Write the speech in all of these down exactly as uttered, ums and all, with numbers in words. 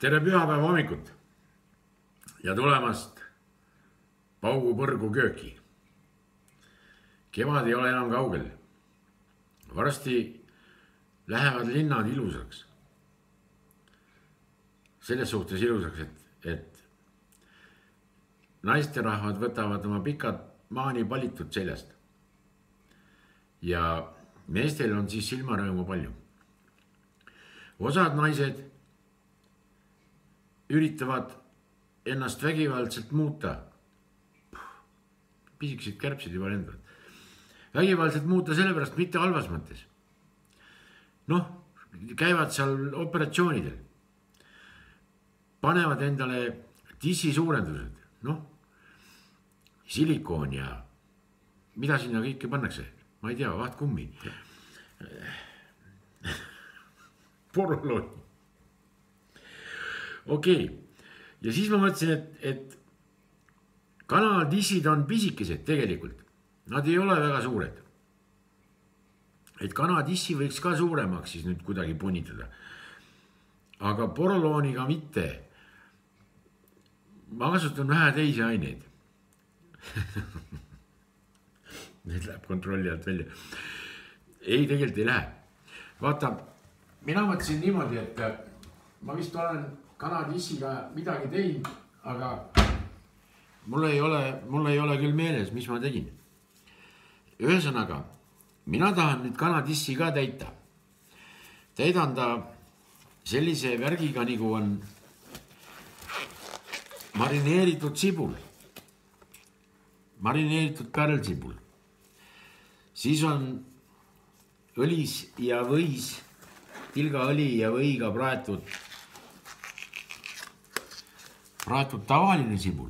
tere pühapäeva hommikut ja tulemast Paugu põrgu kööki. Kevad ei ole enam kaugel. Varsti lähevad linnad ilusaks. Selles suhtes ilusaks, et, et naisterahvad võtavad oma pikad maani palitud seljast. Ja meestel on siis silmarõõmu palju. Osad naised üritavad ennast vägivaldselt muuta. Pisikesed kärbsid juba lendavad. Vägivaldselt muuta sellepärast mitte halvas mõttes. Noh, käivad seal operatsioonidel. Panevad endale tissi suurendused. Noh, silikoon ja mida sinna kõike pannakse? Ma ei tea, vahtkummi. Porolooni. Okei. Ja siis ma mõtlesin, et, et kanaltissid on pisikesed tegelikult. Nad ei ole väga suured. Et kanatissi võiks ka suuremaks siis nüüd kuidagi punitada. Aga porolooniga mitte. Ma kasutan vähe teisi aineid. Need läheb kontrolli alt välja. Ei, tegelikult ei lähe. Vaata, mina mõtlesin niimoodi, et ma vist olen kanatissiga midagi teinud, aga mul ei ole, mul ei ole küll meeles, mis ma tegin. Ühesõnaga, mina tahan nüüd kanatissi ka täita. Täidan ta sellise värgiga, nagu on marineeritud sibul. Marineeritud pärlsibul. Siis on õlis ja võis, tilgaõli ja võiga praetud praetud tavaline sibul,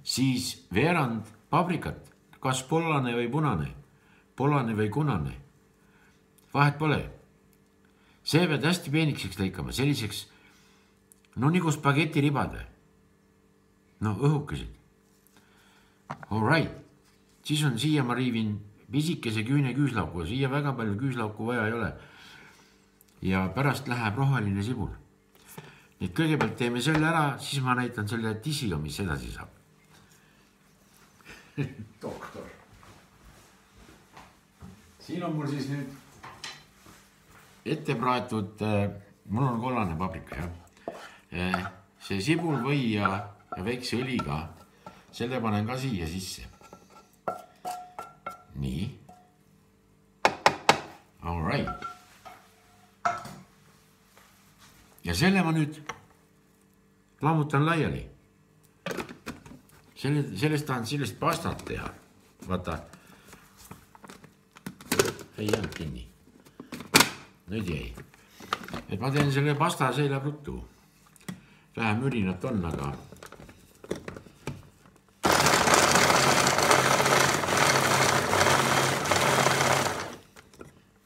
siis veerand paprikat, kas pollane või punane, pollane või kunane, vahet pole. See pead hästi peenikseks lõikama, selliseks, no nagu spaghetti ribade, no õhukesed. All right, siis on siia ma riivin pisikese küüne küüslauku, siia väga palju küüslauku vaja ei ole. Ja pärast läheb roheline sibul. Nüüd kõigepealt teeme selle ära, siis ma näitan selle tissiga, mis edasi saab. Doktor. Siin on mul siis nüüd ette praetud, mul on kollane paprika, jah. See sibul või ja väikse õliga, selle panen ka siia sisse. Nii. All right. Ja selle ma nüüd lammutan laiali. Selle, sellest tahan sellist pastat teha. Vaata. Ei jäänud kinni. Nüüd jäi. Et ma teen selle pasta seila ruttu. Vähem ürinat on, aga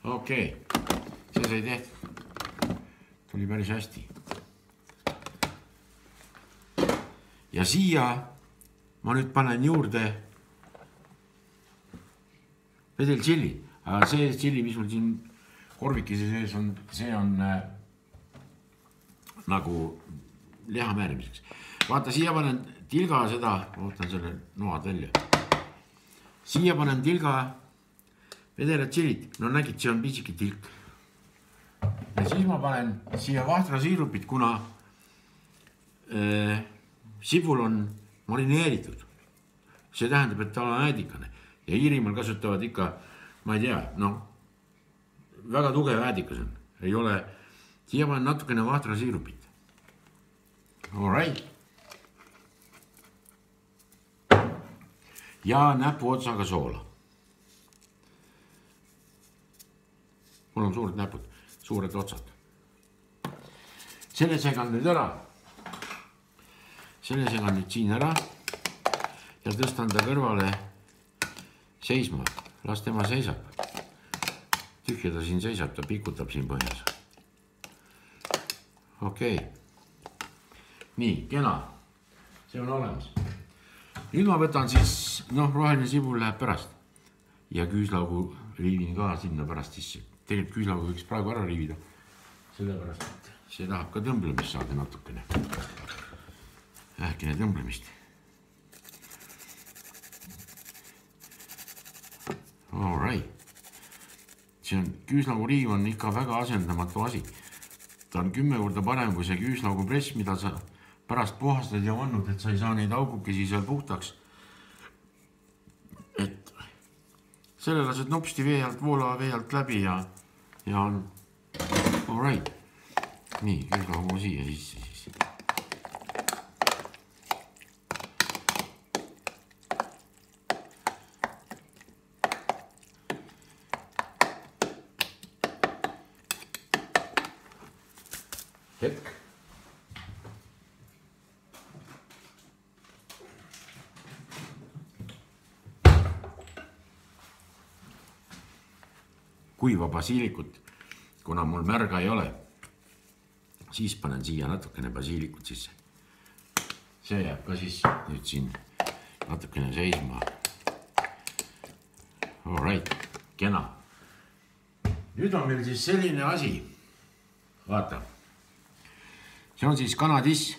okei. See sai tehtud. Tuli päris hästi. Ja siia ma nüüd panen juurde vedel tšilli. Aga see tšilli, mis mul siin korvikese sees on, see on äh, nagu liha määrimiseks. Vaata, siia panen tilga seda, ootan selle noad välja. Siia panen tilga vedelat tšillit. No nägid, see on pisiki tilk. Ja siis ma panen siia vahtra siirupit, kuna äh, sibul on marineeritud. See tähendab, et ta on äädikane. Ja Iirimaal kasutavad ikka, ma ei tea, no, väga tugev äädikas on. Ei ole, siia panen natukene vahtra siirupit. All right. Ja näpu otsaga soola. Mul on suured näpud. Suured otsad. Selle segan nüüd ära. Selle segan nüüd siin ära. Ja tõstan ta kõrvale seisma. Las tema seisab. Tühja ta siin seisab, ta pikutab siin põhjas. Okei. Nii, kena. See on olemas. Nüüd ma võtan siis, noh, roheline sibul läheb pärast. Ja küüslaugu riivin ka sinna pärast sisse. Tegelikult küüslaugu võiks praegu ära riivida. Sellepärast, et see tahab ka tõmblemist saada natukene. Vähkene tõmblemist. All right. See on küüslaugu on ikka väga asendamatu asi. Ta on kümme korda parem kui see küüslaugu press, mida sa pärast puhastad ja vannud, et sa ei saa neid augukesi seal puhtaks. Et selle lased nopsti vee alt, voolava vee alt läbi ja, ja on all right. Nii, küüslaugu siia sisse siis. Hetk. Kuiva basiilikut, kuna mul märga ei ole, siis panen siia natukene basiilikut sisse. See jääb ka siis nüüd siin natukene seisma. All right, kena. Nüüd on meil siis selline asi. Vaata. See on siis kanadiss.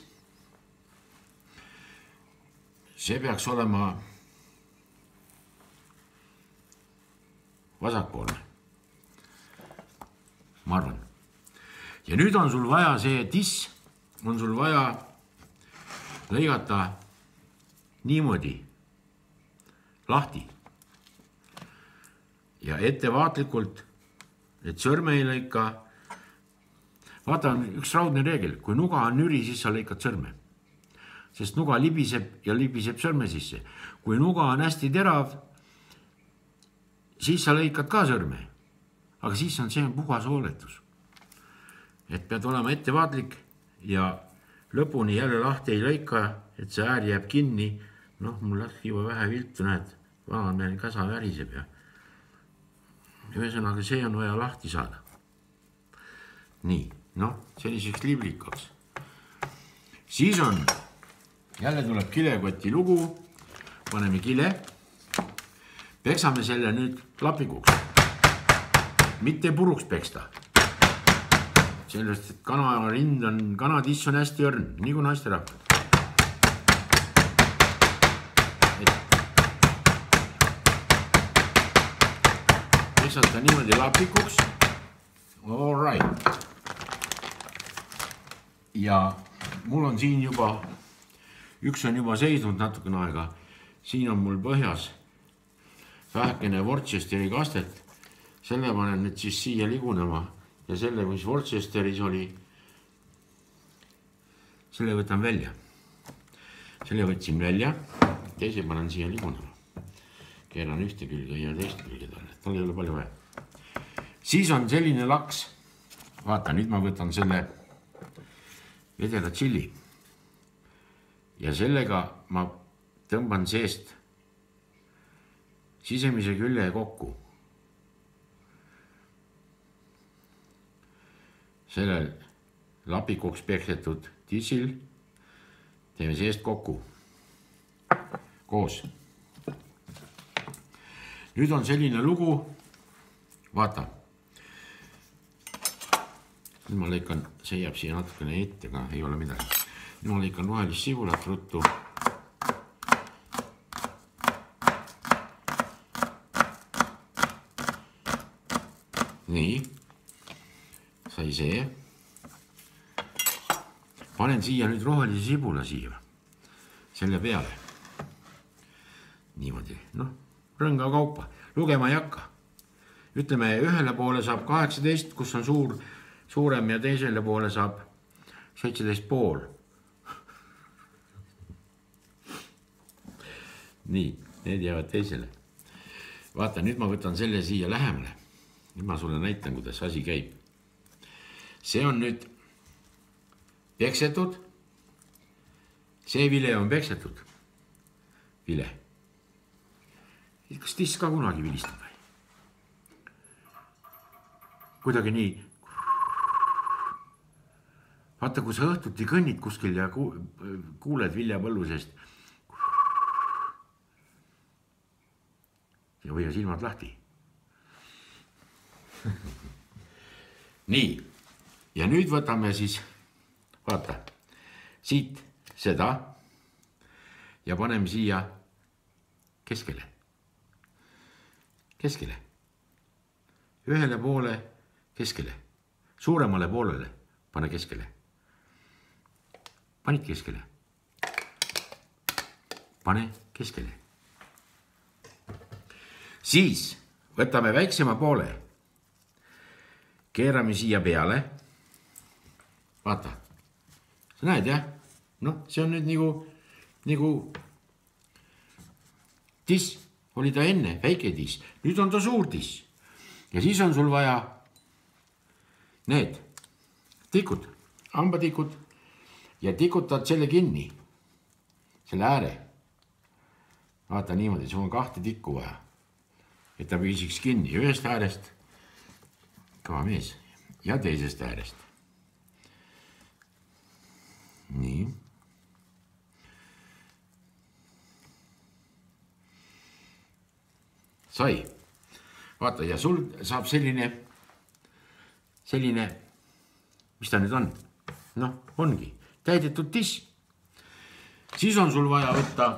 See peaks olema vasakpoolne. Ma arvan. Ja nüüd on sul vaja see tiss, on sul vaja lõigata niimoodi lahti. Ja ettevaatlikult, et sõrme ei lõika. Vaata, on üks raudne reegel. Kui nuga on nüri, siis sa lõikad sõrme. Sest nuga libiseb ja libiseb sõrme sisse. Kui nuga on hästi terav, siis sa lõikad ka sõrme. Aga siis on see puhas hooletus. Et pead olema ettevaatlik ja lõpuni jälle lahti ei lõika, et see äär jääb kinni. Noh, mul läks juba vähe viltu, näed, vanamehel kasa väriseb ja ühesõnaga see on vaja lahti saada. Nii, noh, selliseks liblikaks. Siis on, jälle tuleb kilekoti lugu, paneme kile, peksame selle nüüd lapikuks. Mitte puruks peksta. Sellest, et kanarind on, kanatiss on hästi õrn, nii kui naiste rahvad. Peksata niimoodi lapikuks. All right. Ja mul on siin juba, üks on juba seisnud natukene aega. Siin on mul põhjas vähekene Worcesteri kastet. Selle panen nüüd siis siia ligunema ja selle, mis Worcesteris oli, selle võtan välja. Selle võtsin välja, teise panen siia ligunema. Keeran ühte külge ja teist külge talle, tal ei ole palju vaja. Siis on selline laks. Vaata, nüüd ma võtan selle vedela tšilli. Ja sellega ma tõmban seest sisemise külje kokku. Sellel lapikuks peksetud tissil teeme seest kokku. Koos. Nüüd on selline lugu. Vaata. Nüüd ma lõikan, see jääb siia natukene ette, aga ei ole midagi. Nüüd ma lõikan rohelist sibulat ruttu. Nii. Sai see. Panen siia nüüd rohelise sibula siia. Selle peale. Niimoodi. Noh, rõnga kaupa. Lugema ei hakka. Ütleme, ühele poole saab kaheksateist, kus on suur, suurem ja teisele poole saab seitseteist pool. Nii, need jäävad teisele. Vaata, nüüd ma võtan selle siia lähemale. Nüüd ma sulle näitan, kuidas asi käib. See on nüüd peksetud. See vile on peksetud. Vile. Kas tiss ka kunagi vilistab või? Kuidagi nii. Vaata, kui sa õhtuti kõnnid kuskil ja kuuled viljapõllusest. Ja või silmad lahti. Nii. ja nüüd võtame siis, vaata, siit seda ja paneme siia keskele. Keskele. Ühele poole keskele. Suuremale poolele pane keskele. Panid keskele. Pane keskele. Siis võtame väiksema poole. Keerame siia peale. Vaata. Sa näed, jah? Noh, see on nüüd nagu, nagu tiss. Oli ta enne, väike tiss. Nüüd on ta suur tiss. Ja siis on sul vaja need tikud, hambatikud ja tikutad selle kinni, selle ääre. Vaata niimoodi, sul on kahte tikku vaja, et ta püsiks kinni ühest äärest, kõva mees, ja teisest äärest. Nii. Sai. Vaata, ja sul saab selline, selline, mis ta nüüd on? Noh, ongi täidetud tiss. Siis on sul vaja võtta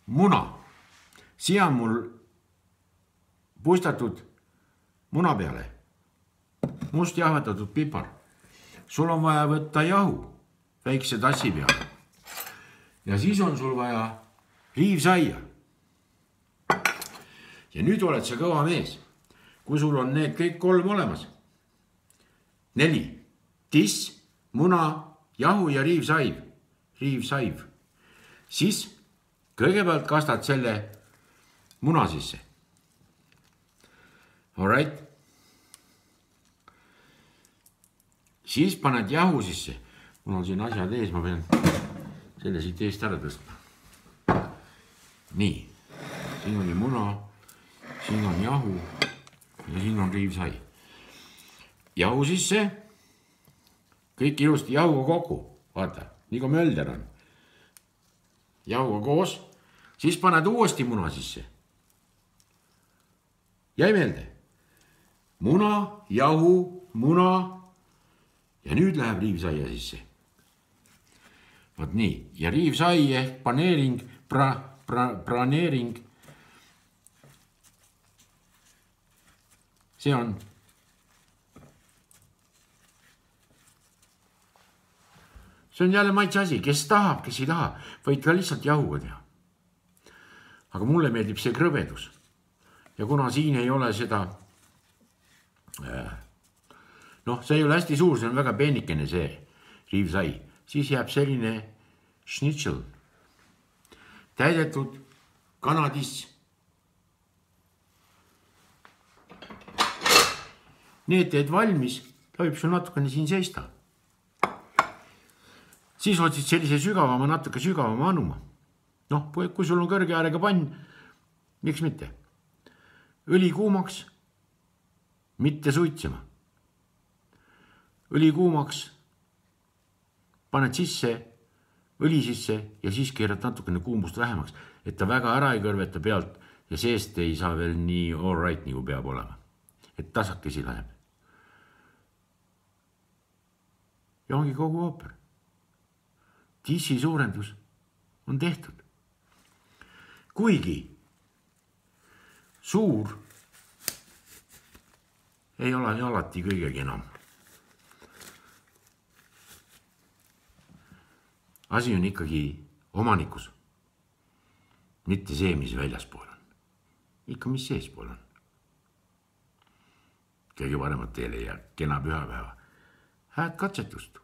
muna. Siia on mul puistatud muna peale. Must jahvatatud pipar. Sul on vaja võtta jahu väikse tassi peale. Ja siis on sul vaja riivsaia. Ja nüüd oled sa kõva mees, kui sul on need kõik kolm olemas. Neli. Tiss, muna, jahu ja riivsaiv. Riivsaiv. Siis kõigepealt kastad selle muna sisse. All right. Siis paned jahu sisse. Mul on siin asjad ees, ma pean selle siit eest ära tõstma. Nii, siin oli muna, siin on jahu ja siin on riivsai. Jahu sisse, kõik ilusti jahuga kokku, vaata, nii kui mölder on. Jahuga koos, siis paned uuesti muna sisse. Jäi meelde? Muna, jahu, muna ja nüüd läheb riivsaia sisse. Vaat nii, ja riivsai ehk paneering, pra... Praneering. See on see on jälle maitse asi, kes tahab, kes ei taha, võid ka lihtsalt jahuga teha. Aga mulle meeldib see krõbedus. Ja kuna siin ei ole seda noh, see ei ole hästi suur, see on väga peenikene see riivsai, siis jääb selline schnitzel. Täidetud kanadiss. Need teed valmis, ta võib sul natukene siin seista. Siis otsid sellise sügavama, natuke sügavama anuma. Noh, kui sul on kõrge äärega pann, miks mitte? Õli kuumaks, mitte suitsema. Õli kuumaks, paned sisse, õli sisse ja siis keerad natukene kuumust vähemaks, et ta väga ära ei kõrveta pealt ja seest ei saa veel nii all right, nagu peab olema. Et tasakesi läheb. Ja ongi kogu ooper. Tissi suurendus on tehtud. Kuigi suur ei ole alati kõigegi enam. Asi on ikkagi omanikus, mitte see, mis väljaspool on. Ikka, mis seespool on. Kõige paremat teile ja kena pühapäeva. Hääd katsetust!